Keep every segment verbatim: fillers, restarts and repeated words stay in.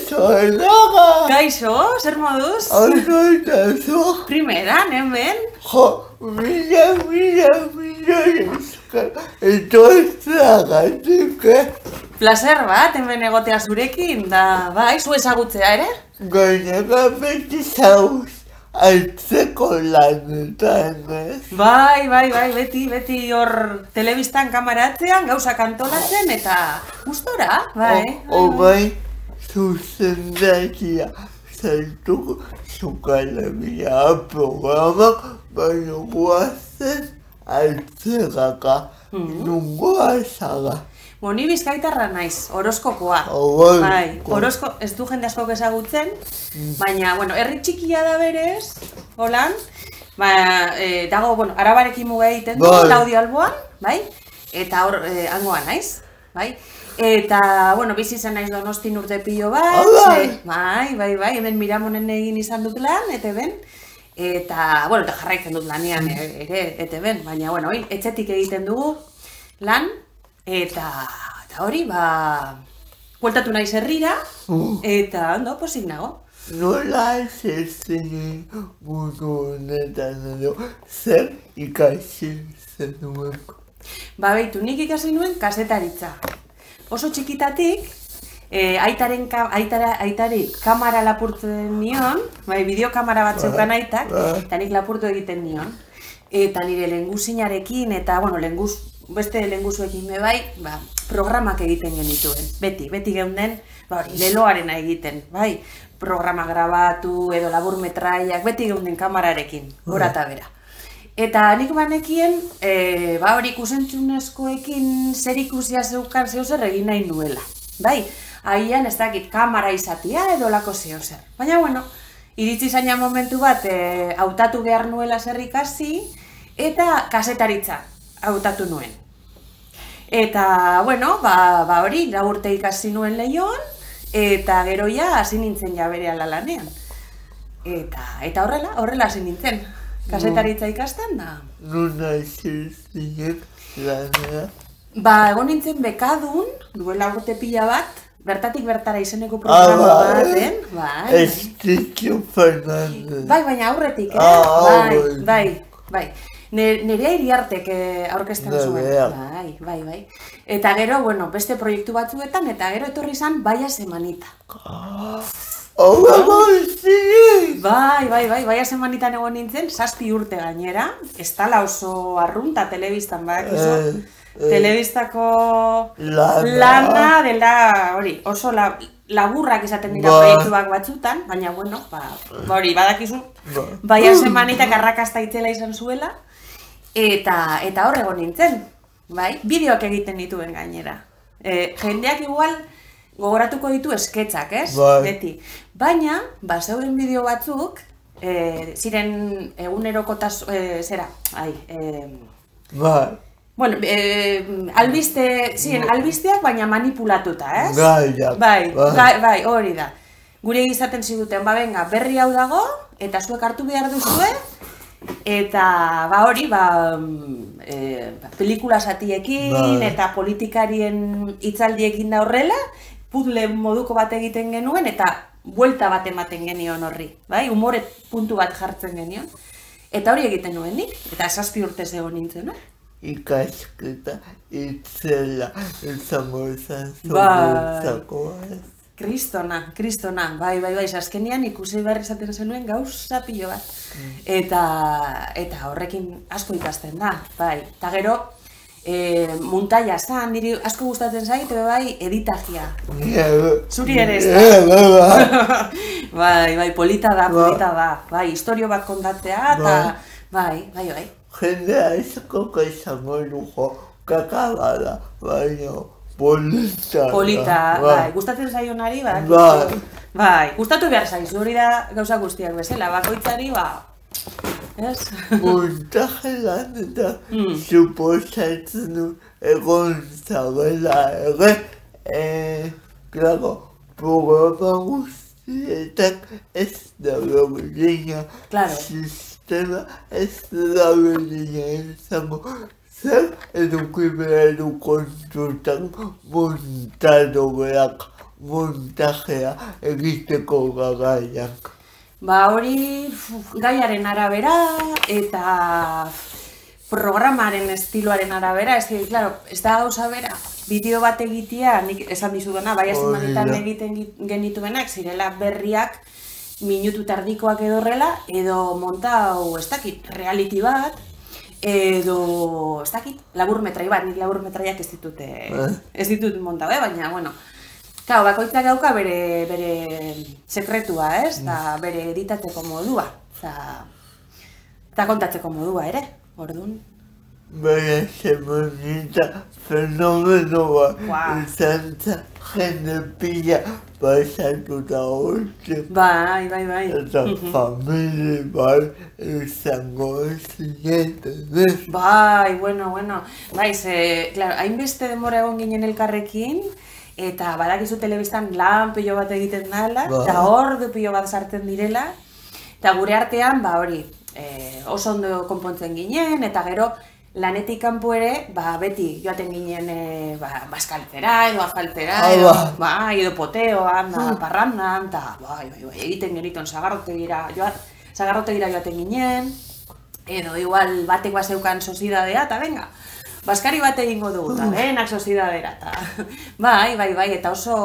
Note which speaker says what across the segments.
Speaker 1: Kaixo, enaga!
Speaker 2: Kaixo, zer moduz?
Speaker 1: Ondo eta zu?
Speaker 2: Primeran, hemen?
Speaker 1: Jo, mila, mila, mila esker, etortzagatik, eh?
Speaker 2: Plazer bat, hemen egotea zurekin, da, bai, zu ezagutzea ere?
Speaker 1: Gainera beti zauz, altzeko lanetan, ez?
Speaker 2: Bai, bai, bai, beti, beti hor telebistan kamaratzean, gauzak antolatzen, eta gustora, bai.
Speaker 1: O bai, zuzendakia, zaitu zukalemia programa, baina guazen altzegaka, nungoa zaga.
Speaker 2: Bo, ni bizkaitarra naiz, horoskokoa. Bai, horosko, ez du jende askok ezagutzen, baina, bueno, herri txikia da berez, holan, ba, e, dago, bueno, arabarekin muga egiten du, Laudio Alboan, bai, eta hor, e, hangoa naiz, bai, eta, bueno, bizi zen naiz Donostin urte pilo bat, ze, bai, bai, bai, hemen Miramonen egin izan dut lan, ete ben, eta, bueno, eta jarraitzen dut lanean ere, ete ben, baina, bueno, etxetik egiten dugu lan, Eta, eta hori, ba, bueltatu naiz herrira, eta, ondo, posik nago.
Speaker 1: Nola ez ezin mundu honetan edo, zer ikasi zenuen?
Speaker 2: Ba, behitu, nik ikasi nuen kasetaritza. Oso txikitatik, e, aitaren, aitara, aitari kamara lapurtzen nion, bai, bideokamara bat zeukan aitak, eta nik lapurtu egiten nion. Eta nire lenguzinarekin, eta, bueno, lenguz, beste lenguzuekin me bai, ba, programak egiten genituen, beti, beti geunden, ba hori, leloarena egiten, bai, programa grabatu edo labur metraiak, beti geunden kamararekin, gora eta bera. Eta nik banekien, e, ba hori ikusentzunezkoekin zer ikusia zeukan zeu zer egin nahi nuela, bai, haian ez dakit kamara izatea edo lako zeu zer. Baina, bueno, iritsi zaina momentu bat, e, hautatu behar nuela zer ikasi, eta kasetaritza hautatu nuen. Eta, bueno, ba, ba hori, lau urte ikasi nuen Leioan, eta gero ja hasi nintzen ja berehala lanean. Eta, eta horrela, horrela hasi nintzen. Kasetaritza ikasten da.
Speaker 1: Nuna izin lanera?
Speaker 2: Ba, egon nintzen bekadun, duela urte pila bat, bertatik bertara izeneko programa baten. Bai,
Speaker 1: Estitxo Fernandez.
Speaker 2: Bai, baina aurretik, eh? Bai, bai, bai. Nerea Iriartek aurkezten zuen. Bai, bai, bai. Eta gero, bueno, beste proiektu batzuetan, eta gero etorri izan Baia Semanita.
Speaker 1: Hau bai,
Speaker 2: bai, bai, bai, Baia Semanitan egon nintzen, zazpi urte gainera, ez tala oso arrunta telebistan, badakizu. Telebistako lana dela, hori, oso laburrak izaten dira proiektuak batzutan, baina, bueno, hori, badakizu, Baia Semanitak arrakasta itzela izan zuela, eta hor egon nintzen, bai, bideoak egiten dituen gainera. Jendeak igual gogoratuko ditu esketzak, ez? Beti. Baina, ba, zeuden bideo batzuk, ziren egunerokotas, zera, ai,
Speaker 1: bai.
Speaker 2: Bueno, albiste, ziren albisteak baina manipulatuta, ez?
Speaker 1: Bai,
Speaker 2: bai, bai, hori da. Gure izaten ziduten, ba, benga, berri hau dago, eta zuek hartu behar duzue, eta, ba, hori, ba, pelikula satiekin eta politikarien hitzaldiekin da horrela, puzzle moduko bat egiten genuen, eta buelta bat ematen genion horri, bai, umore puntu bat jartzen genion. Eta hori egiten nuen nik, eta zazpi urtez egon nintzen, eh?
Speaker 1: Ikasketa itzela izango izan zuretzako.
Speaker 2: Kristona, kristona, bai, bai, bai, azkenean ikusi behar izaten zenuen gauza pilo bat. Eta, eta horrekin asko ikasten da, bai. Eta gero, muntaia zan, niri asko gustatzen zait, bai, editajia. Zuri ere ez da. Bai, bai, polita da, polita da. Bai, historio bat kontatzea, eta, bai, bai, bai.
Speaker 1: Jendea izako izango dugu kakabada, baina polita.
Speaker 2: Polita, bai, gustatzen zaionari, bai. Bai, gustatu behar zaizu, hori da gauza guztiak bezala, bakoitzari, ba, ez?
Speaker 1: Montaje lan eta suposatzen du egon zabela ere, klaro, programa guztietak ez da berdina, sistema ez da berdina izango, zer eduki behar du kontutan montadoreak montajea egiteko garaian?
Speaker 2: Ba hori gaiaren arabera eta programaren estiloaren arabera, ez que, claro, ez da gauza bera, bideo bat egitea, nik esan dizudana, bai azemanetan egiten genituenak, zirela berriak, minutu tardikoak edo horrela, edo montau, ez dakit, reality bat, edo, ez dakit, laburmetrai bat, nik laburmetraiak ez ditut, ez ditut montau, eh? Baina, bueno, Kau, bakoitzak dauka bere, bere sekretua, ez? Da bere editateko modua, eta kontatzeko modua ere, orduan.
Speaker 1: Bere semonita fenomenoa izan zen jende pila pasatuta hortze.
Speaker 2: Bai, bai, bai.
Speaker 1: Eta familie bai izango zieten, ez?
Speaker 2: Bai, bueno, bueno. Bai, ze, claro, hainbeste denbora egon ginen elkarrekin, eta badakizu telebistan lan pilo bat egiten dela, eta ordu pilo bat sartzen direla, eta gure artean, ba hori, oso ondo konpontzen ginen, eta gero lanetik kanpo ere, ba beti joaten ginen baskaltzera edo afaltzera, edo, ba, edo poteoan, parrandan, eta bai, bai, bai, egiten genituen sagarrotegira joaten ginen, edo igual batek bazeukan sozidadea, eta venga, Baskari bat egingo dugu, eta behenak sozidadera, eta bai, bai, bai, eta oso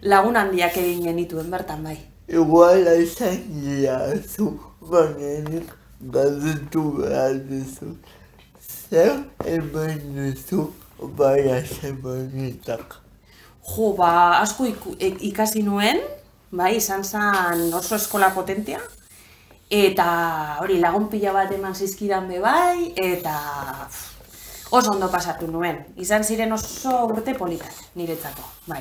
Speaker 2: lagun handiak egin genituen bertan, bai.
Speaker 1: Igual izan giazu, banenik galdetu behar duzu. Zer eman duzu baina semanitak?
Speaker 2: Jo, ba, asko ikasi nuen, bai, izan zen oso eskola potentea, eta hori lagun pila bat eman zizkidan be bai, eta oso ondo pasatu nuen. Izan ziren oso urte politak, niretzako, bai.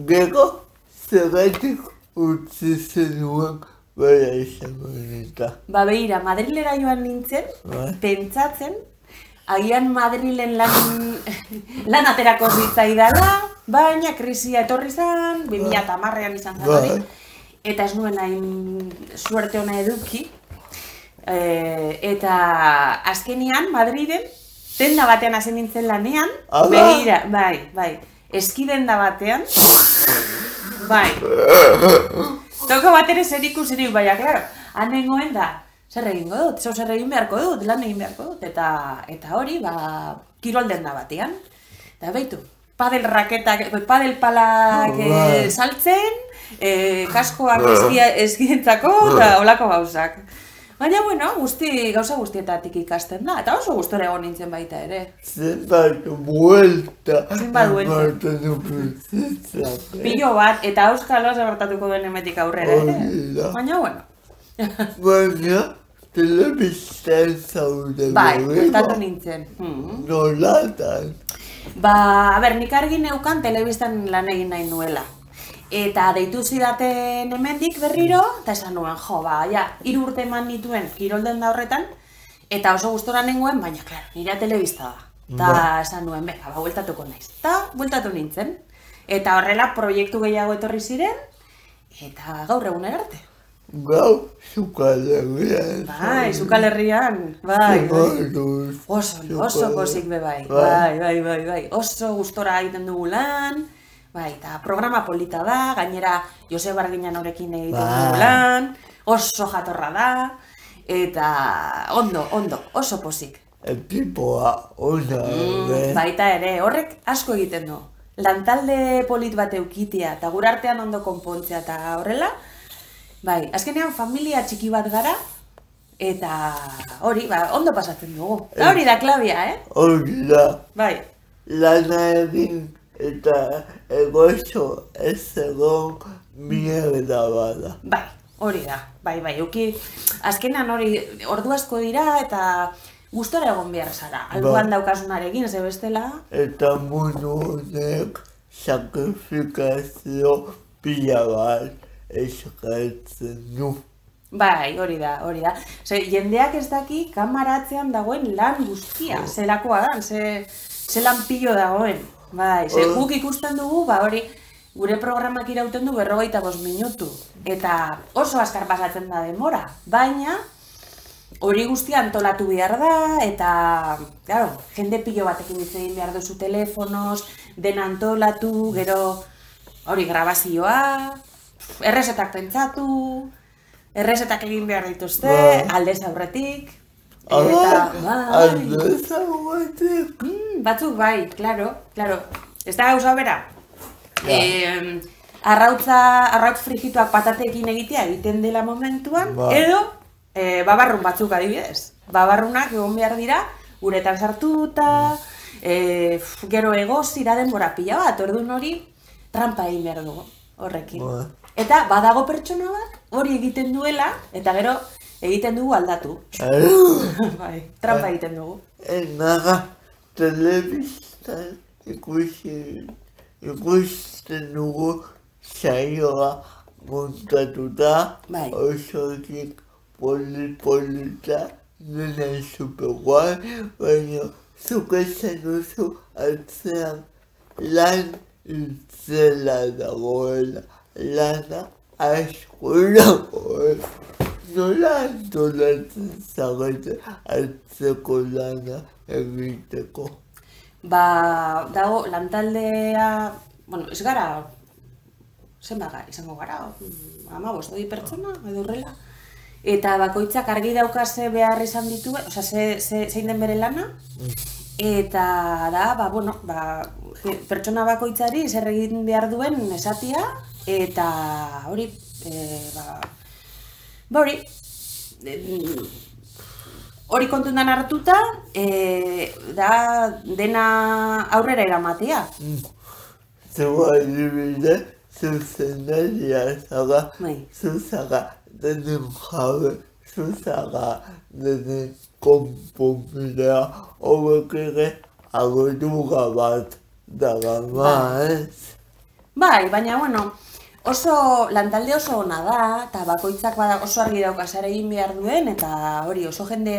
Speaker 1: Gero, zergatik utzi zenuen bera semanita?
Speaker 2: Ba, behira, Madrilera joan nintzen, pentsatzen, agian Madrilen lan aterako zitzaidala, baina krisia etorri zen, bi mila hamarrean izan zen hori, eta ez nuen hain suerte ona eduki, eta azkenian Madriden, denda batean hasi nintzen lanean, behira, bai, bai, eski denda batean, bai, toko bat ere zer ikusirik, baina, klaro, han nengoen da, zer egingo dut, zau zer egin beharko dut, lan egin beharko dut, eta hori, ba, kirol denda batean, eta behitu, padel raketak, padel palak saltzen, kaskoak eskientzako, eta holako gauzak. Baina, bueno, guzti, gauza guztietatik ikasten da, eta oso gustora egon nintzen baita ere.
Speaker 1: Zenbat buelta.
Speaker 2: Zenbat buelta. Pilo bat, eta auskalo zabertatuko duen emetik aurrera ere. Baina, bueno.
Speaker 1: Baina, telebistan zaude.
Speaker 2: Bai, bueltatu nintzen.
Speaker 1: Nolatan?
Speaker 2: Ba, a ber, nik argi neukan telebistan lan egin nahi nuela. Eta deitu zidaten hemendik berriro, eta esan nuen, jo, ba, ja, hiru urte eman nituen kirolden da horretan, eta oso gustora nengoen, baina, klaro, nire telebista da. Eta esan nuen, beka, ba, bueltatuko naiz. Eta bueltatu nintzen. Eta horrela proiektu gehiago etorri ziren, eta gaur egunera arte.
Speaker 1: Gau, Zukalerrian.
Speaker 2: Bai, Zukalerrian, bai, bai. Oso, oso pozik be bai, bai, bai, bai, bai. Oso gustora egiten dugu lan. Bai, eta programa polita da, gainera Jose Barginan horekin egiten dugu lan, oso jatorra da, eta ondo, ondo, oso pozik.
Speaker 1: Ekipoa, ona, ere.
Speaker 2: Baita ere, horrek asko egiten du. Lantalde polit bat eukitea, eta gure artean ondo konpontzea eta horrela, bai, azkenean familia txiki bat gara, eta hori, ba, ondo pasatzen dugu. Eta hori da klabia, eh?
Speaker 1: Hori da.
Speaker 2: Bai.
Speaker 1: Lana egin. Eta egoizo ez egon mierda bada.
Speaker 2: Bai, hori da, bai, bai, euki, azkenan hori ordu asko dira eta gustora egon behar zara, alduan daukasunarekin, ze bestela.
Speaker 1: Eta mundu honek sakrifikazio pila bat eskatzen du.
Speaker 2: Bai, hori da, hori da. Ze, jendeak ez daki kamaratzean dagoen lan guztia, zelakoa da, ze, ze lan pilo dagoen. Bai, ze guk ikusten dugu, ba hori, gure programak irauten du berrogeita bost minutu. Eta oso azkar pasatzen da denbora, baina hori guztia antolatu behar da, eta, claro, jende pilo batekin hitz egin behar duzu telefonoz, dena antolatu, gero hori grabazioa, errezetak pentsatu, errezetak egin behar dituzte, aldez aurretik, eta, bai,
Speaker 1: aldez aurretik.
Speaker 2: batzuk bai, klaro, klaro, ez da gauza bera. Eh, arrautza, arrautz frigituak patatekin egitea egiten dela momentuan, edo e, babarrun batzuk adibidez. Babarrunak egon behar dira, uretan sartuta, e, gero egozira denbora pila bat, orduan hori trampa egin behar dugu horrekin. Eta badago pertsona bat hori egiten duela, eta gero egiten dugu aldatu. Bai, trampa egiten dugu.
Speaker 1: Enaga telebistan ikusi ikusten dugu saioa montatuta, osotik poli-polita, dena superguai, baina zuk esan duzu atzean lan itzela dagoela, lana asko dagoela. Nola antolatzen zarete atzeko lana egiteko?
Speaker 2: Ba, dago, lantaldea, bueno, ez gara, zenbat izango gara, ama bost, hori pertsona, edo horrela. Eta bakoitzak argi daukase behar izan ditu, oza, zein den bere lana. Eta da, ba, bueno, ba, pertsona bakoitzari zer egin behar duen esatia, eta hori, ba, ba hori, hori kontundan hartuta, da dena aurrera eramatea.
Speaker 1: Zua adibide, zuzenaria zaga, zuzaga denen jabe, zuzaga denen konponbidea, hobek ere agoduga bat dagama, ez?
Speaker 2: Bai, baina, bueno, oso, lantalde oso ona da, eta bakoitzak oso argi dauka zer egin behar duen, eta hori oso jende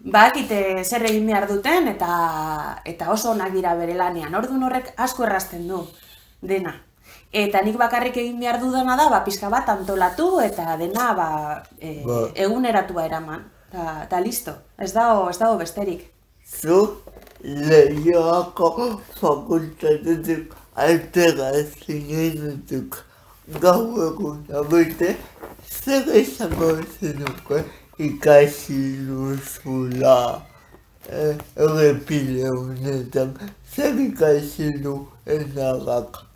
Speaker 2: bakite zer egin behar duten, eta oso onak dira bere lanean. Orduan horrek asko errazten du dena. Eta nik bakarrik egin behar dudana da, ba, pixka bat antolatu, eta dena ba, eguneratua eraman. Eta listo, ez dago besterik.
Speaker 1: Zu Leioako fakultatetik altera zinenetik gau egun abete, zer esango zenuke ikasi duzula errepile honetan, zer ikasi du enagak?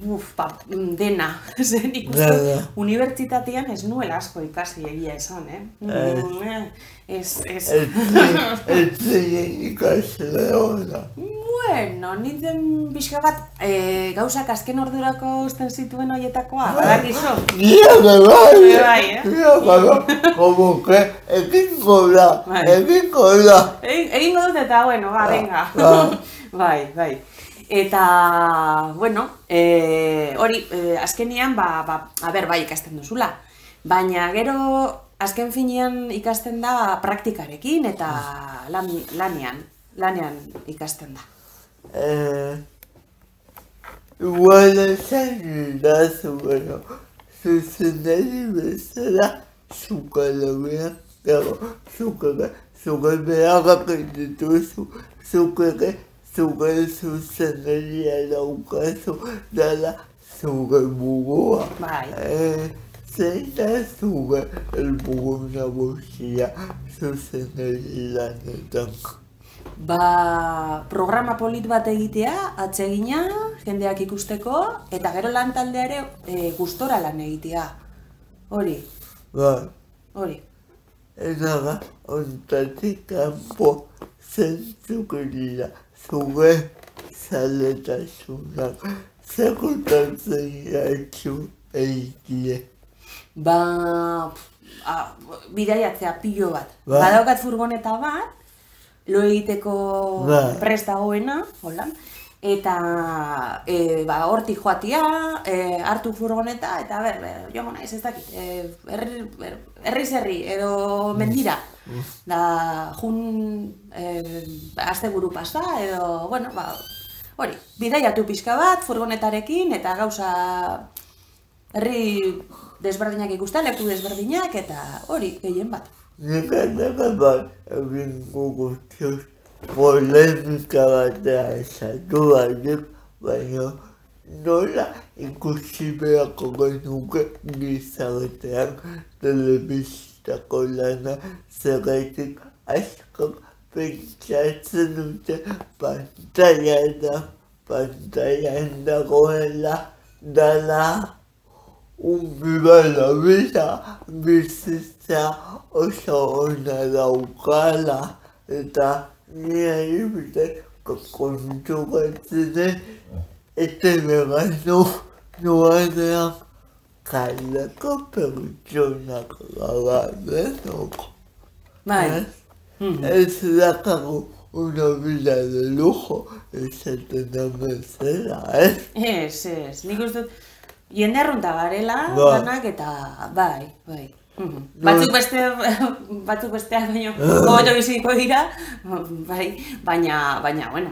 Speaker 2: Uf, ba, dena, zen ikustu, unibertsitatean ez nuela asko ikasi egia esan, eh? Ez, ez...
Speaker 1: Ez zein ikasle hona.
Speaker 2: Bueno, nintzen pixka bat gauzak azken ordurako usten zituen horietakoa, badakizu.
Speaker 1: Nia bai,
Speaker 2: bai, eh?
Speaker 1: Nia bai, como que egingo da, egingo da.
Speaker 2: Egingo dut eta, bueno, ba, venga. Bai, bai. Eta, bueno, hori, azkenian, ba, a ber, bai ikasten duzula. Baina gero, azken finean ikasten da praktikarekin eta lanean, lanean ikasten da.
Speaker 1: Igual esan da zueno, zuzenari bezala, zukalabean, zukalabean, zukalabeak dituzu, zukalabeak, zuge zuzenaria daukazu dela zuge burua. Zein da zuge helburu nagusia zuzenari lanetan?
Speaker 2: Ba, programa polit bat egitea, atsegina, jendeak ikusteko, eta gero lantaldeare gustora lan egitea. Hori.
Speaker 1: Bai.
Speaker 2: Hori.
Speaker 1: Enaga, ontatik kanpo zentzuk dira. Zuge zaletasunak, zekutantzen jatxu egitie.
Speaker 2: Ba, bidaiatzea pilo bat. Badaukat furgoneta bat, lo egiteko prest dagoena, hola, eta hortik joatia, hartu furgoneta, eta ber, joango naiz ez dakit, herri-zerri edo mendira. Da, jun asteburu pasa, edo, bueno, ba, hori, bidaiatu pixka bat, furgonetarekin, eta gauza herri desberdinak ikusten, leku desberdinak, eta hori, gehien bat.
Speaker 1: Nik ataka bat egingo guztios polemika batea esatu barik, baina nola ikusi beharko genuke gizartean telebistako lana zergatik askok pentsatzen dute pantailan da, pantailan dagoela dala unbibala bisa bizitza oso ona daukala eta nire bite konturatzen eta begano nuanean kaleko pertsonak gara denok.
Speaker 2: Bai.
Speaker 1: Ez dakago una vida de lujo, esaten da bezala, ez?
Speaker 2: Ez, ez, nik uste dut, jende arrunta garela, ganak, eta bai, bai. Batzuk beste, batzuk besteak baino, gogoto biziko dira, bai, baina, baina, bueno,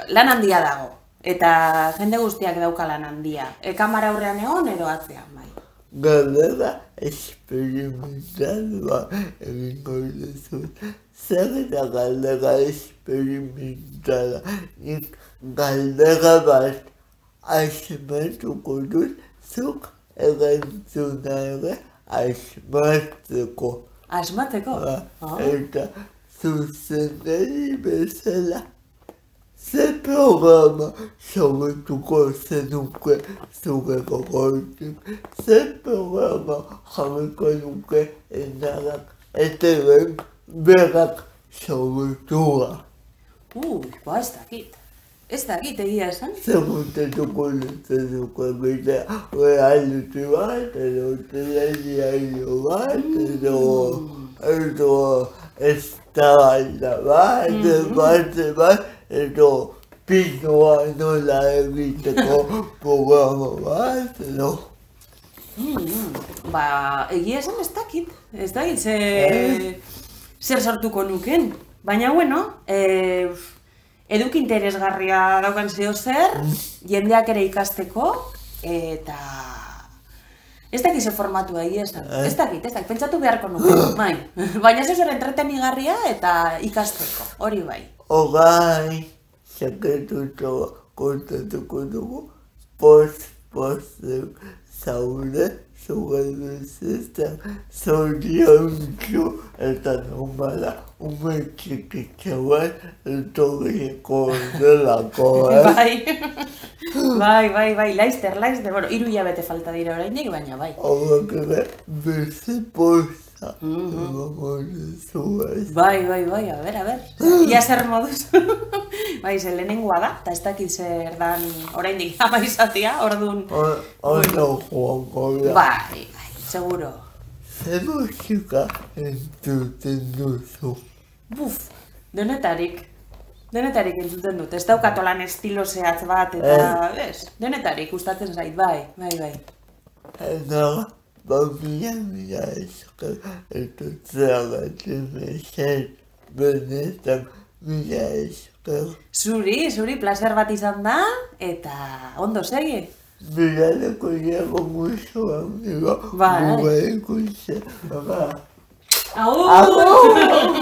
Speaker 2: lan handia dago, eta jende guztiak dauka lan handia. Kamara aurrean egon, edo atzean, bai.
Speaker 1: Galdera esperimentalua egingo dizut. Zer da galdera esperimentala? Nik galdera bat asmatuko dut, zuk erantzuna ere asmatzeko.
Speaker 2: Asmatzeko?
Speaker 1: Eta zuzendari bezala. Ze programa sortuko zenuke zure gogoetik, ze programa jarriko nuke enarak eteren berak sortua.
Speaker 2: Ui, ba ez dakit. Ez dakit egia esan?
Speaker 1: Zerutetuko zenuke bidea reality bat, edo telediario bat, edo edo eztabaida bat, bat, bat, edo pinoa nola egiteko programa bat, edo.
Speaker 2: Ba, egia esan ez dakit. Ez dakit, zer sortuko nuken. Baina, bueno, eduk interesgarria daukan zeo zer, jendeak ere ikasteko, eta ez dakit ze formatua egia esan. Ez dakit, ez dakit, pentsatu beharko nuken, bai. Baina zeo zer entretenigarria eta ikasteko, hori bai.
Speaker 1: Ogai, saketuto kontatuko dugu, post-post zaude, zure bizitza, zoriontsu eta normala, ume txikitza bat, etorriko delako, eh?
Speaker 2: Bai, bai, bai, bai, laizter, laizter, bueno, hiru hilabete falta dira oraindik, baina bai.
Speaker 1: Horrek ere, beste posta.
Speaker 2: Bai, bai, bai, a ber, a ber, ia zer moduz. Bai, ze lehenengoa da, eta ez dakit zer dan oraindik ama izatea, orduan...
Speaker 1: Ondo joango da.
Speaker 2: Bai, bai, seguro.
Speaker 1: Zer musika entzuten duzu?
Speaker 2: Buf, denetarik. Denetarik entzuten dut, ez daukatolan estilo zehatz bat, eta, ez, denetarik gustatzen zait, bai, bai, bai.
Speaker 1: Eta, ba, mila, mila esker, eta zergatzen mesen, benetan, mila esker.
Speaker 2: Zuri, zuri, placer bat izan da, eta ondo segi.
Speaker 1: Bilaleko iago muso, amigo,
Speaker 2: Bai.
Speaker 1: gure ikusi, ba.
Speaker 2: Agur!